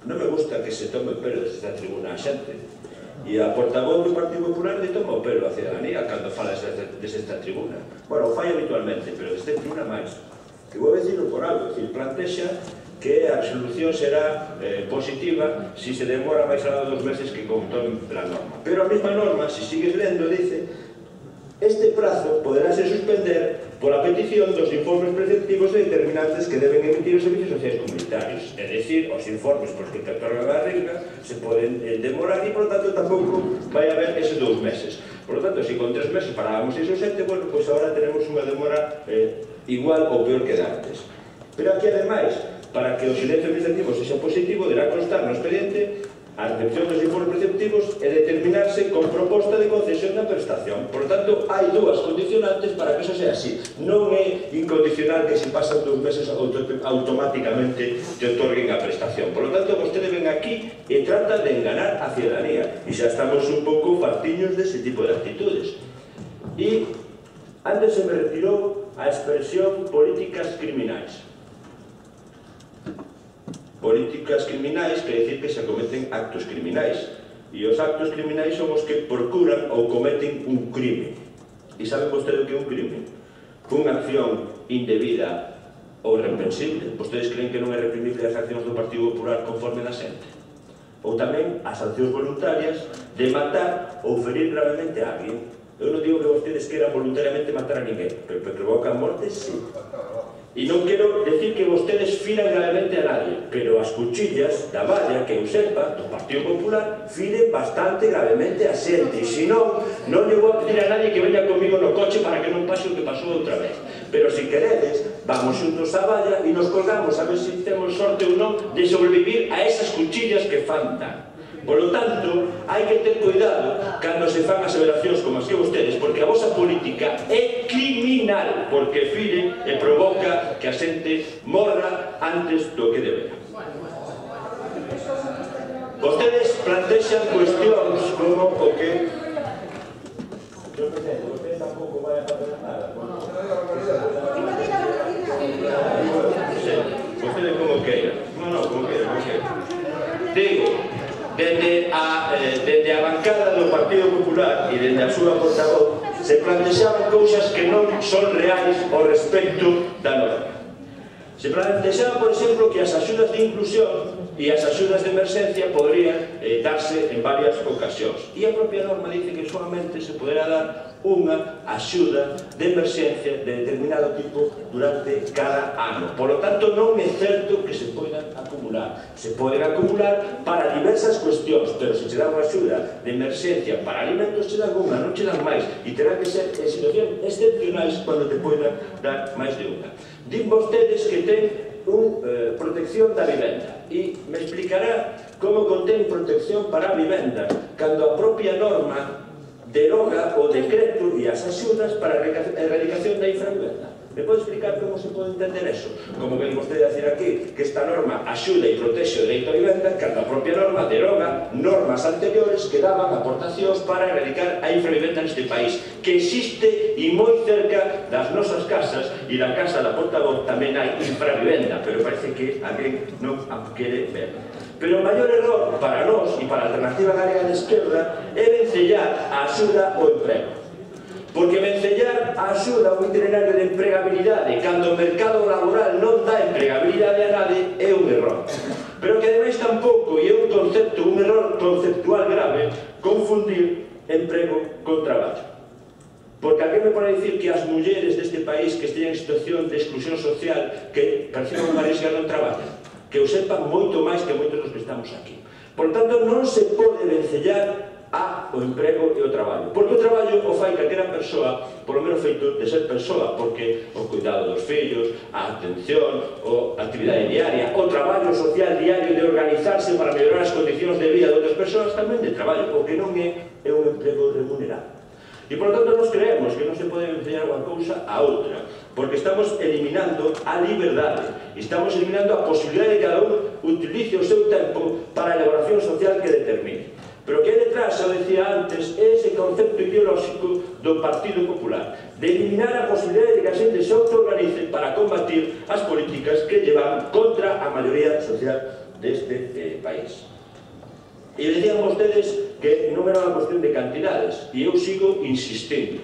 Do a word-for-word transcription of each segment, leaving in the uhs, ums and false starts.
non me gusta que se tome o pelo desde esta tribuna a xente. E a portavoz do Partido Popular de toma o pelo a ciudadanía cando fala desde esta tribuna. Bueno, o fai habitualmente, pero desde esta tribuna máis. E vou dicirlo por algo, é dicir, plantexa que a resolución será eh, positiva si se demora máis alá dos meses que contón la norma. Pero a mesma norma, se sigues lendo, dice este prazo poderá ser suspender pola petición dos informes preceptivos e determinantes que deben emitir os servicios sociais comunitarios. É dicir, os informes polos que te otorgan a renda se poden eh, demorar e, por lo tanto, tampouco vai haber eses dous meses. Por lo tanto, se con tres meses parábamos seis ou sete, bueno, pois agora tenemos unha demora eh, igual ou peor que antes. Pero aquí, ademais, para que o silencio administrativo sexa positivo, deberá constar no expediente a recepción dos informes preceptivos e determinarse con proposta de concesión da prestación. Por tanto, hai dúas condicionantes para que iso sea así. Non é incondicional que se pasan dous meses automáticamente te otorguen a prestación. Por lo tanto, vostede ven aquí e trata de enganar a ciudadanía. E xa estamos un pouco fartiños dese tipo de actitudes. E antes se me retirou a expresión políticas criminais. Políticas criminais quer dicir que se cometen actos criminais, e os actos criminais son os que procuran ou cometen un crime. E saben vostede o que é un crime? Unha acción indebida ou irreprensible. Vostedes creen que non é reprimible as accións do Partido Popular conforme da xente? Ou tamén as accións voluntarias de matar ou ferir gravemente a alguén. Eu non digo que vostedes queran voluntariamente matar a ninguén, pero que provocan mortes, sí. E non quero decir que vostedes firan gravemente a nadie, pero as cuchillas da valla que eu sepa do Partido Popular firen bastante gravemente a xente. E se non, non lle vou a pedir a nadie que veña comigo no coche para que non pase o que pasou outra vez. Pero se queredes, vamos xuntos á valla e nos colgamos a ver se temos sorte ou non de sobrevivir a esas cuchillas que fan tan. Por lo tanto, hai que ter cuidado cando se fan aseveracións como as que vostedes, porque a vosa política é criminal, porque fire e provoca que a xente morra antes do que debera. Vostedes plantexan cuestións como o que... Eu non sei, vostedes tampouco vai a facer nada. Vostedes como queiran. Non, non, como queiran, como queiran. Digo, Dende a, eh, dende a bancada do Partido Popular e dende a súa portavoz se plantexaban cousas que non son reais ao respecto da norma. Se plantexaba, por exemplo, que as axudas de inclusión e as axudas de emerxencia poderían eh, darse en varias ocasións. E a propia norma dice que solamente se poderá dar unha axuda de emerxencia de determinado tipo durante cada ano. Por lo tanto, non é certo que se poidan acumular. Se poden acumular para diversas cuestións, pero se che dá unha axuda de emerxencia para alimentos, che dan unha, non che dan máis. E terá que ser en situacións excepcionais cando te poidan dar máis de unha. Din vostedes que ten un, eh, protección da vivenda e me explicará como contén protección para a vivenda cando a propia norma deroga o decreto e as axudas para a erradicación da infravivenda. Me pode explicar como se pode entender eso? Como ven vostede a decir aquí que esta norma axuda e protexe o dereito a vivenda cando a propia norma deroga normas anteriores que daban aportacións para erradicar a infravivenda neste país, que existe e moi cerca das nosas casas, e da casa da portavoz tamén hai infravivenda, pero parece que alguén non a quere ver. Pero o maior error para nós e para a Alternativa Galega de Esquerda é vencellar a axuda ao emprego. Porque vencellar a axuda ao itinerario de empregabilidade cando o mercado laboral non dá empregabilidade a nadie é un error. Pero que ademais tampouco, e é un concepto, un error conceptual grave, confundir emprego con traballo. Porque alguén me pode dicir que as mulleres deste país que estén en situación de exclusión social que perciban unha risca non traballan, que o sepan moito máis que moitos dos que estamos aquí. Por tanto, non se pode vencellar a o emprego e o traballo. Porque o traballo o fai calquera persoa, polo menos feito de ser persoa, porque o cuidado dos fillos, a atención, a actividade diaria, o traballo social diario de organizarse para mellorar as condicións de vida de outras persoas tamén de traballo, o que non é, é un emprego remunerado. E, por lo tanto, nos creemos que non se pode enseñar unha cousa a outra, porque estamos eliminando a liberdade, estamos eliminando a posibilidade de que cada un utilice o seu tempo para a elaboración social que determine. Pero que hai detrás, eu decía antes, é ese concepto ideolóxico do Partido Popular, de eliminar a posibilidade de que a xente se autoorganice para combatir as políticas que llevan contra a maioría social deste eh, país. E decían vostedes que non era unha cuestión de cantidades, e eu sigo insistindo.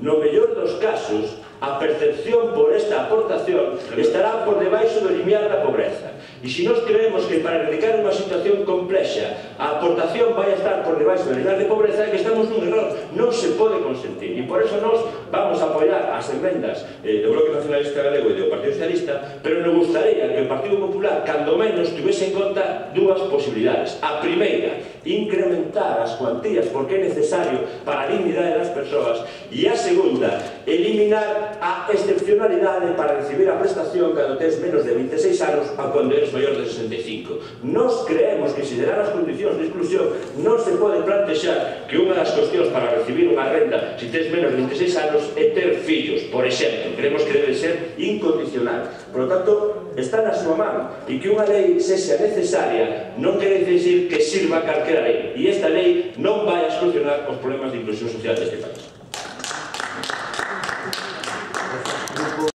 No mellor dos casos, a percepción por esta aportación estará por debaixo do limiar da pobreza. E se nós creemos que para erradicar unha situación complexa a aportación vai a estar por debaixo do limiar de pobreza, é que estamos nun error. Non se pode consentir. E por eso nós vamos a apoiar as enmendas eh, do Bloque Nacionalista Galego e do Partido Socialista, pero nos gustaría que o Partido Popular, cando menos, tuvese en conta dúas posibilidades. A primeira, incrementar as cuantías porque é necesario para a dignidade das persoas, e a segunda, eliminar a excepcionalidade para recibir a prestación cando tes menos de vinte e seis anos a cando eres maior de sesenta e cinco. Nos creemos que, se deran as condicións de exclusión, non se pode plantexar que unha das cuestións para recibir unha renda se tes menos de vinte e seis anos é ter fillos, por exemplo. Creemos que debe ser incondicional. Por lo tanto, está na súa man, e que unha lei sexa necesaria non quere dicir que sirva calquera lei, e esta lei non vai a solucionar os problemas de inclusión social deste país.